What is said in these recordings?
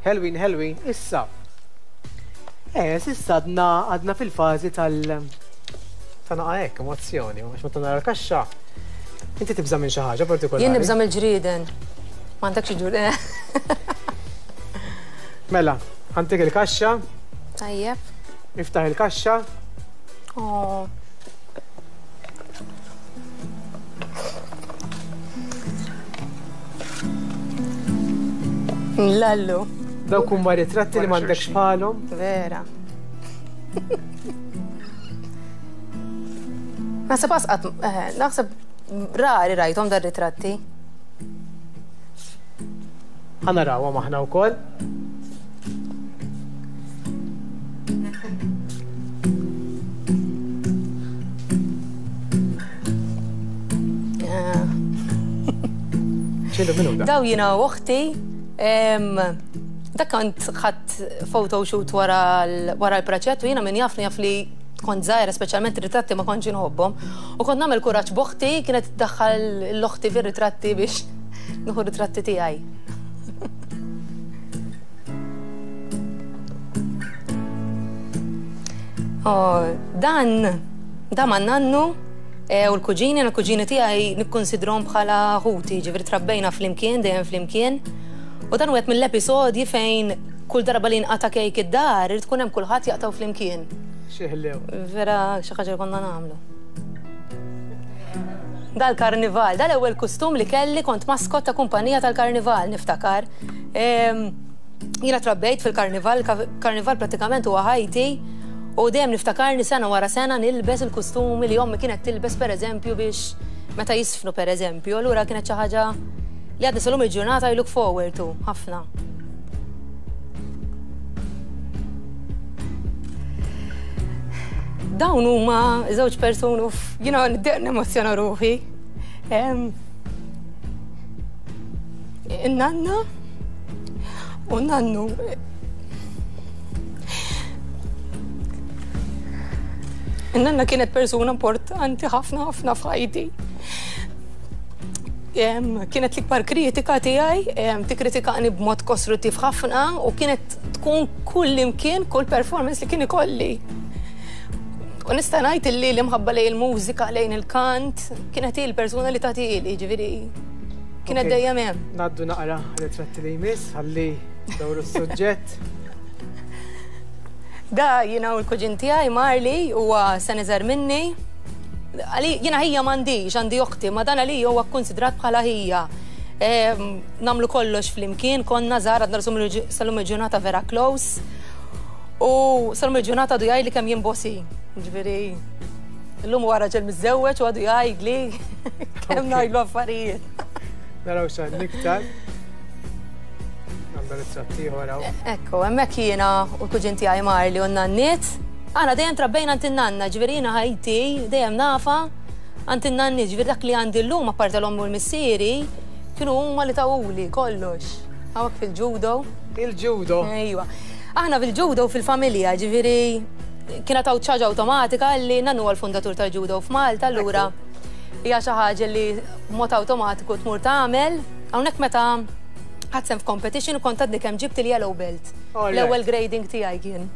Ħelwin, ħelwin, issa. Eh, s'issa għadna għadna fil-fażi tal ta' naqa' hekk, emozzjoni, għax meta nara l-kaxxa, inti tibża' minn xi ħaġa partikolari. Jien nibża' mill-ġrieden. M'għandekx ġur. Mela, ħantik il-kaxxa. Tajjeb. Iftaħ il-kaxxa. Oh. Lallu. Dawk huma ritratti li m'għandekx bħalhom. Vera. Naħseb asqat, eh, naħseb rari rajthom dar ritratti. Ħa narawhom aħna wkoll. Daw jina u uħti, dak kont ħadd photoshoot wara l-proċett u jiena min jafni jaf li kont żgħira, speċjalment ritratti ma kontx inħobbhom. U kont nagħmel kuraġġ b'oħti, kienet tiddaħħal l-oħti fir-ritratti biex nieħu ritratti tiegħi. Oh, dan, da ma' nannu e, u l-kuġini, l-kuġini tiegħi nikkonsidrom bħala ħuti, ġifieri trabbejna flimkien, dejjem flimkien. U dan wieħed mill-episodji fejn kull darba li nqata' kejk id-dar, irid tkun hemm kulħadd jaqtgħu flimkien. Xi ħlew. Vera xi ħaġa li konna nagħmlu. Dal-karnival, dal-ewwel kustum li kelli kont maskot ta' kumpanija tal-karnival niftakar. Jiena trabbejt fil-karnival, karnival prattikament huwa ħajti u dejjem niftakarni sena wara sena nilbes il-kustumi li ommi kienet tilbes pereżempju biex meta jisfnu pereżempju, allura kienet xi ħaġa li għadni sal-lum il-ġurnata I look forward to ħafna. Dawn huma żewġ persuni jiena niddeq nemozzjona ruħi. In-nanna u nannu. In-nanna kienet persuna importanti ħafna ħafna f'ħajti. Kienet l-ikbar kritika tiegħi, tikkritikani b'mod kostruttiv ħafna u kienet tkun kull imkien, kull performance li kien ikolli. U nista' ngħid illi l-imħabba lejn il-mużika, lejn il-kant, kienet hi l-persuna li tagħtili, ġifieri kienet dejjem hemm. Ngħaddu naqra ritratti li jmiss ħalli dawru s-suġġett. Da jiena u l-kuġin tiegħi Marley huwa sena iżgħar minni. Jiena ħija m'għandix, għandi oħti, ma dan għalija huwa kkunsidrat bħala ħija. Nagħmlu kollox flimkien, konna żgħar għadna sal-lum il-ġurnata vera close. U sal-lum il-ġurnata għadu jgħidli kemm jien bossy. Ġifieri, illum huwa raġel miżżewweġ u għadu jgħidli kemm ngħidlu affarijiet. Naraw x'għandna iktar. Għandna ritratt ieħor hawn. Ekku, hemmhekk jiena u l-kuġin tiegħi Marli u n-nanniet. Aħna dejjem trabbejna għand in-nanna, ġifieri jiena ħajti dejjem nafha għand in-nanniet, ġifieri dak li għandi llum apparti l-ommi u l-missieri kienu huma li tawuli kollox. Hawnhekk fil-judo. Il-judo? Ejwa. Aħna fil-judo fil-familja, ġifieri kienet hawn ċaġa awtomatika li nannu huwa l-fundatur tal-judo f'Malta, allura hija xi ħaġa li b'mod awtomatiku tmur tagħmel. Hawnhekk meta ħadt sehem f'competition u kont għadni kemm ġibt il-yellow belt. L-ewwel grading tiegħi kien.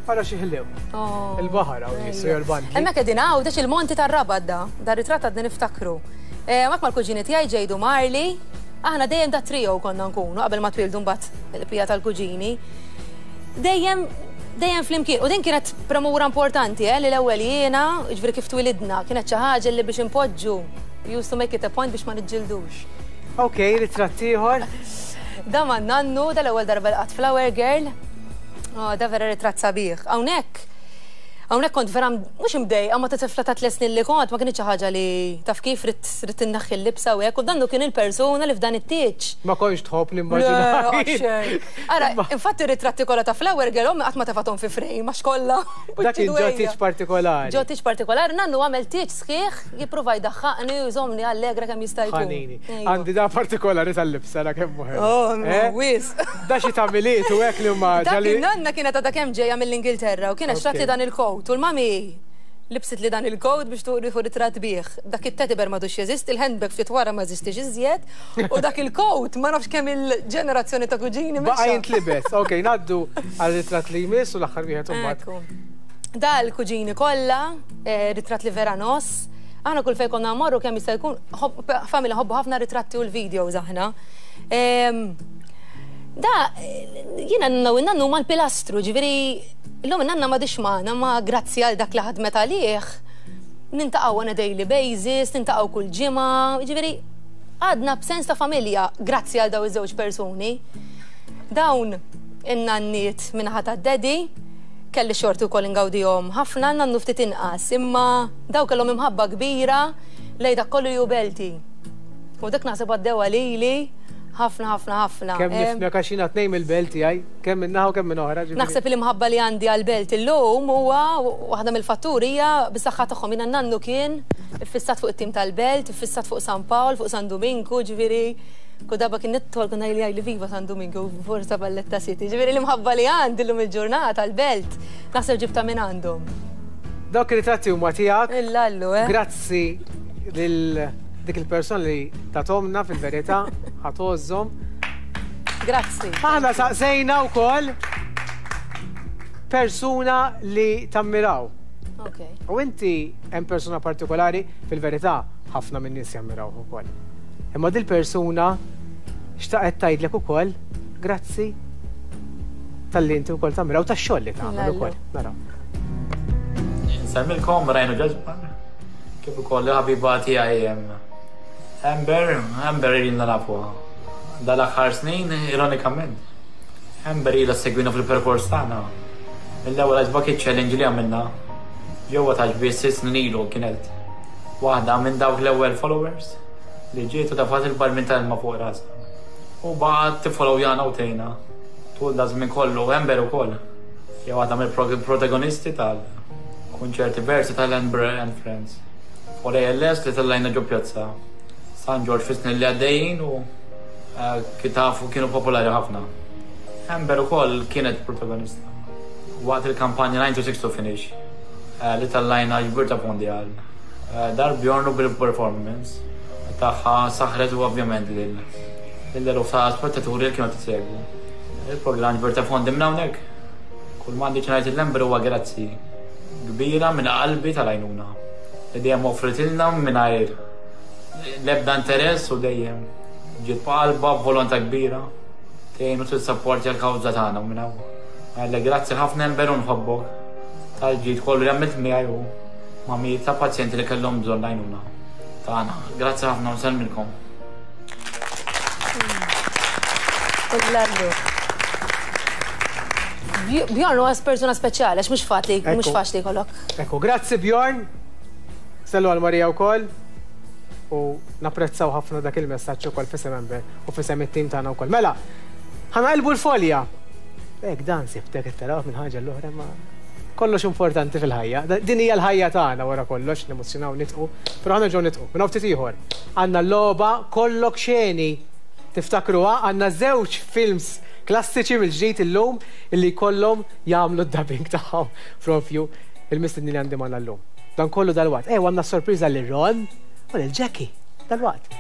Ara xi ħlew. Oh. Il-baħar hawn jisu jew il-bandli. Hemmhekk qegħdin Għawdex il-Monti tar-Rabat da. Da ritratt għadni niftakru. Eh, hemmhekk mal-kuġini tiegħi ġejdu Marli. Aħna dejjem da trio konna nkunu qabel ma twildu mbagħad il-pija tal-kuġini. Dejjem dejjem flimkien. U din kienet premura importanti, eh, li l-ewwel jiena, jiġifieri kif twilidna, kienet xi ħaġa li biex inpoġġu, used to make it a point biex ma niġġildux. Ok, ritratt ieħor. Da ma' nannu, da l-ewwel darba li qatt Flower Girl. Oh, da vera ritratt sabiħ. Hawnhekk, hawnhekk kont vera mhux imdejqa ma ta' tifla ta' tliet snin li kont, ma kinitx xi ħaġa li taf kif ridt ridt inneħħi l-libsa u hekk, u dannu kien il-persuna li f'dan it-tieġ. Ma kontx tħobb nimmaġina. Le, xejn. Ara, infatti r-ritratti kollha ta' Flower Girl ommi qatt ma tefgħathom fi frame għax kollha. Dak kien ġo tieġ partikolari. Ġo tieġ partikolari, nannu għamel tieġ sħiħ jipprova jdaħħaqni u jżommni allegra kemm jista' jkun. Ħanini. Għandi da partikolari tal-libsa ra kemm hu ħelu. Oh, wisq. Da xi ta' Milied u hekk li huma Dak in-nanna kienet għadha kemm ġejja mill-Ingilterra u kienet xtratli dan il-coat u l-mami. Libsitli dan il-coat biex tieħu ritratt bih. Dak it-teddy bear m'għadux jeżisti, il-handbag ftit wara ma jeżistix iżjed, u dak il-coat ma nafx kemm il-ġenerazzjoni ta' kuġini mexxa. Baqa' jintlibes. Ok, ngħaddu għar-ritratt li jmiss u l-aħħar wieħed imbagħad. Ekku. Da l-kuġini kollha, ritratt li vera ngħożż. Aħna kull fejn konna mmorru kemm jista' jkun, familja nħobbu ħafna ritratti u l-videos aħna. Da, jiena nanna u n-nannu huma l-pilastru, ġifieri Illum in-nanna m'għadhiex magħna, ma grazzi għal dak li ħadmet għalih, nintaqgħu on a daily basis, nintaqgħu kull ġimgħa, jiġifieri għadna b'sens ta' familja grazzi għal dawn iż-żewġ persuni. Dawn in-nanniet min-naħa tad-daddy, kelli xorti wkoll ingawdihom ħafna, nannu ftit inqas, imma dawn kellhom imħabba kbira lejn dak kollu li hu belti. U dak naħseb għaddewha lili ħafna ħafna ħafna. Kemm nifhmek għax jiena tnejn mill-belt tiegħi. Kemm minn naħa u kemm minn oħra. Naħseb il-imħabba li għandi għall-belt illum huwa waħda mill-fatturi hija bis-saħħa tagħhom. Jiena nannu kien iffissat fuq it-tim tal-belt, iffissat fuq San Pawl, fuq San Duminku, ġifieri kull darba kien nidħol kien jgħidli viva San Duminku, forza Valletta City. Ġifieri l-imħabba li għandi llum il-ġurnata għall-belt naħseb ġibtha minn għandhom. Dawk ir-ritratti huma tiegħek. Illallu, eh. Grazzi lil dik il-persuna li tathomna fil-verità, ħa tgħożżhom. Grazzi. Aħna saqsejna wkoll persuna li tammiraw. Okay. U inti hemm persuna partikolari fil-verità ħafna minn nies jammiraw ukoll. Imma dil persuna xtaqet tgħidlek ukoll grazzi tal-li inti wkoll tammiraw tax-xogħol li tagħmel ukoll. Naraw. Insemmilkom Rajnu Ġazman, kif ukoll il-ħabiba tiegħi Amber, Amber ilna nafuha. Dal-aħħar snin, ironikament, Amber ilha ssegwina fil-perkors tagħna. Mill-ewwel Ice Bucket Challenge li għamilna ġewwa Ta' Xbiex sitt snin ilu kienet waħda minn dawk l-ewwel followers li ġiet u tefgħet il-barmil ta' ilma fuq rasha. U baqgħet tiffollowjana u tgħinna tul daż-żmien kollu. Amber ukoll hija waħda mill-protagonisti tal-kunċerti versi tal-Amber and Friends for ALS li tellajna ġo Pjazza San Ġorġ fis-snin li għaddejjin u kif tafu kienu popolari ħafna. Amber ukoll kienet protagonista waqt il-kampanja 9 to 6 to finish li tellajna ġbir ta' fondi għal Dar Bjorn u bil-performance tagħha saħħret u ovvjament lil eluf ta' spettaturi li kienu qed isegwu il-programm ġbir ta' fondi minn hawnhekk. Kull m'għandi xi ngħid lil Amber huwa grazzi kbira minn qalbi tal-għajnuna li dejjem offritilna mingħajr l-ebda interess u dejjem ġiet b'qalbha b'volontà kbira tgħin u tissapportja l-kawża tagħna u minn hawn ngħidlek grazzi ħafna Amber u nħobbok tal-ġid kollu li għamilt miegħi u ma' mijiet ta' pazjenti li kellhom bżonn l-għajnuna tagħna. Grazzi ħafna u nsellmilkom. Bjorn huwa persuna speċjali għax mhux faċli mhux faċli jkollok. Ekku, grazzi Bjorn. Sellu għal Marija wkoll. U napprezzaw ħafna dak il-messaġġ ukoll f'isem Amber u f'isem it-tim tagħna wkoll. Mela, ħa naqilbu l-folja. Hekk dan sibtek qed taraw minn ħaġa l-oħra ma kollox importanti fil-ħajja. Din hija l-ħajja tagħna wara kollox, nemozzjonaw nitqu, però ħa nerġgħu nitqu. Minn hawn ftit ieħor. Għandna l-logħba Kollok Xeni. Tiftakruha? Għandna żewġ films klassiċi mill-ġdid illum illi jkollhom jagħmlu d-dubbing tagħhom propju il-mistednin li għandi magħna llum. Dan kollu dalwaqt. Ejwa għandna sorpriża lil Ron u lil Jackie. Dalwaqt.